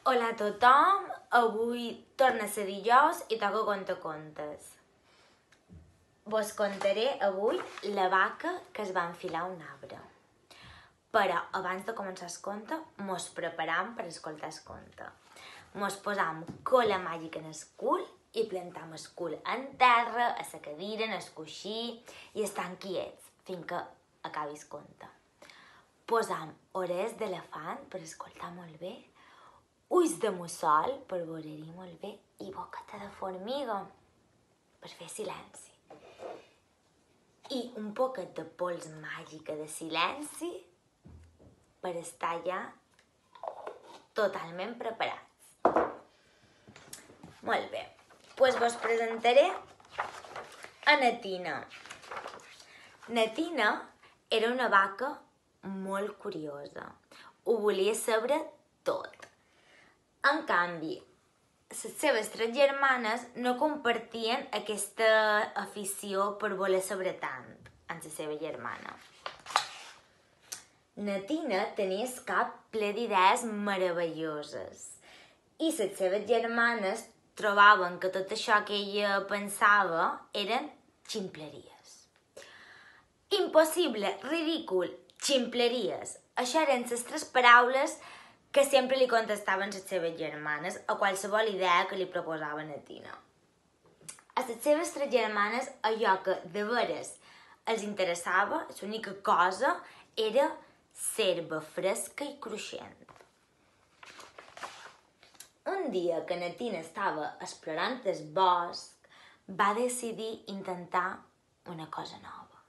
Hola a tothom, avui torna a ser dijous i toca contar contes. Vos contaré avui la vaca que es va enfilar a un arbre. Però abans de començar el conte, mos preparam per escoltar el conte. Mos posam cola màgica en el cul i plantam el cul en terra, a la cadira, en el coixí i estan quiets fins que acabi el conte. Posam orelles d'elefant per escoltar molt bé, ulls de mussol per veure-hi molt bé i boqueta de formiga per fer silenci. I un poquet de pols màgica de silenci per estar ja totalment preparats. Molt bé, doncs vos presentaré a Natina. Natina era una vaca molt curiosa. Ho volia saber tot. En canvi, les seves 3 germanes no compartien aquesta afició per voler saber tant amb la seva germana. Natina tenia el cap ple d'idees meravelloses i les seves germanes trobaven que tot això que ella pensava eren ximpleries. Impossible, ridícul, ximpleries. Això eren les 3 paraules que sempre li contestaven les seves germanes a qualsevol idea que li proposava Natina. A les seves 3 germanes allò que de veres els interessava, l'única cosa, era l'herba fresca i cruixent. Un dia que Natina estava explorant el bosc, va decidir intentar una cosa nova.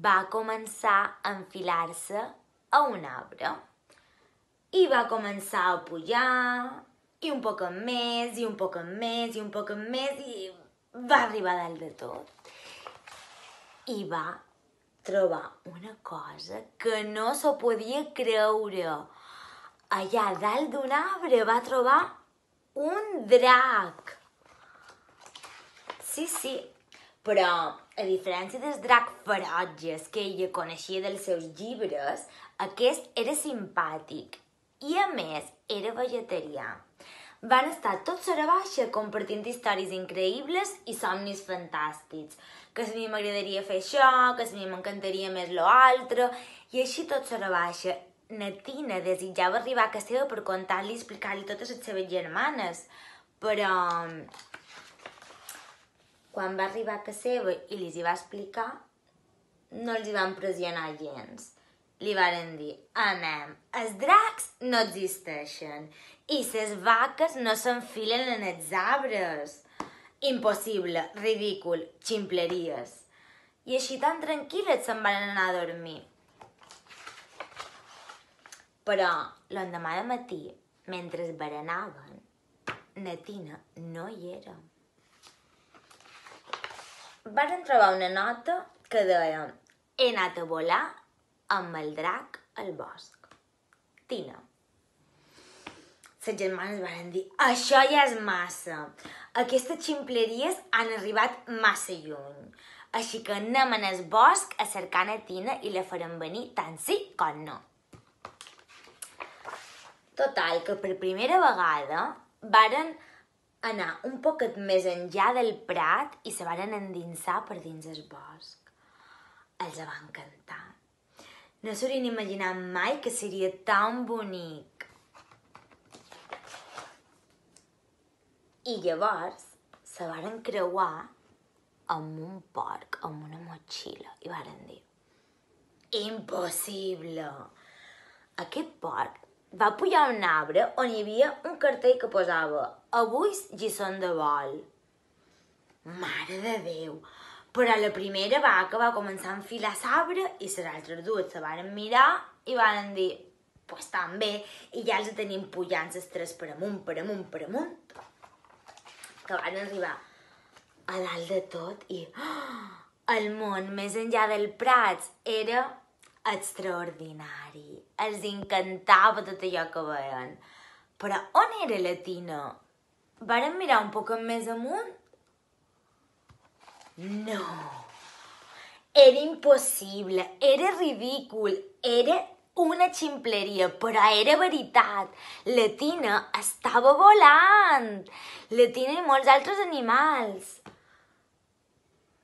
Va començar a enfilar-se a un arbre. I va començar a pujar, i un poc més, i un poc més, i un poc més, i va arribar a dalt de tot. I va trobar una cosa que no s'ho podia creure. Allà dalt d'un arbre va trobar un drac. Sí, però a diferència dels dracs ferotges que ella coneixia dels seus llibres, aquest era simpàtic. I a més, era vegetarià. Van estar tots a la baixa compartint històries increïbles i somnis fantàstics. Que si a mi m'agradaria fer això, que si a mi m'encantaria més lo altre, i així tots a la baixa. Natina desitjava arribar a casa seva per contar-li i explicar-li totes les seves germanes, però quan va arribar a casa seva i li hi va explicar, no els hi van pressionar gens. Li varen dir, anem, els dracs no existeixen i les vaques no s'enfilen en els arbres. Impossible, ridícul, ximpleries. I així tan tranquil·les se'n van anar a dormir. Però l'endemà de matí, mentre es berenaven, Natina no hi era. Varen trobar una nota que deia, he anat a volar amb el drac al bosc. Tina. Les germanes van dir, això ja és massa. Aquestes ximpleries han arribat massa lluny. Així que anem en el bosc a cercar Tina i la farem venir tant sí com no. Total, que per primera vegada varen anar un poquet més enllà del prat i se varen endinsar per dins el bosc. Els va encantar. No s'haurien imaginat mai que seria tan bonic. I llavors se varen creuar amb un porc, amb una motxilla, i varen dir, impossible! Aquest porc va pujar a un arbre on hi havia un cartell que posava avui lliçons de vol. Mare de Déu! Però la primera vaca va començar a enfilar l'arbre i les altres 2 se varen mirar i varen dir, pues també, i ja els tenim pujant les 3 per amunt, que van arribar a dalt de tot i el món més enllà del Prats era extraordinari. Els encantava tot allò que veien. Però on era la Tina? Varen mirar un poc més amunt? No, era impossible, era ridícul, era una ximpleria, però era veritat. La Tina estava volant. La Tina i molts altres animals.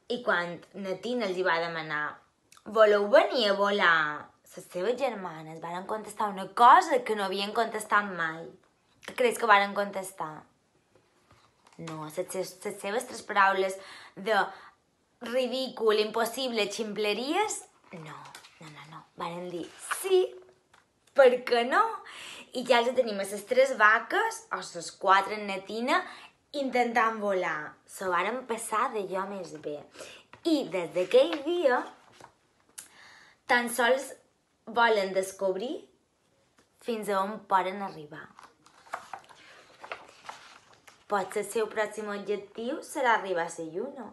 I quan la Tina els va demanar voleu venir a volar? Les seves germanes varen contestar una cosa que no havien contestat mai. Què creus que varen contestar? No, les seves 3 paraules de ridícul, impossible, ximpleries, no. Varen dir sí, per què no? I ja els tenim a les 3 vaques, o les 4 en Tina, intentant volar. Se varen passar d'allò més bé. I des d'aquell dia, tan sols volen descobrir fins a on poden arribar. Potser el seu pròxim objectiu serà arribar a la lluna.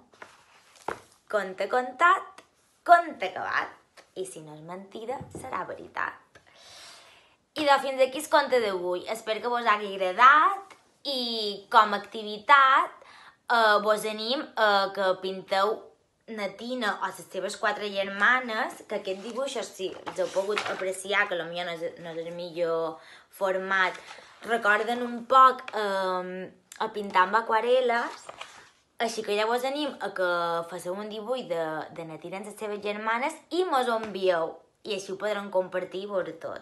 Conte contat, conte acabat. I si no és mentida, serà veritat. I doncs fins aquí el conte d'avui. Espero que vos hagi agradat i com a activitat vos anim que pinteu na Tina o les seves 4 germanes, que aquests dibuixos, si els heu pogut apreciar, que potser no és el millor format, recorden un poc a pintar amb aquarel·les, així que ja vos anim a que faceu un dibuix de na Tina amb les seves germanes i mos ho envieu, i així ho podrem compartir i veure tot.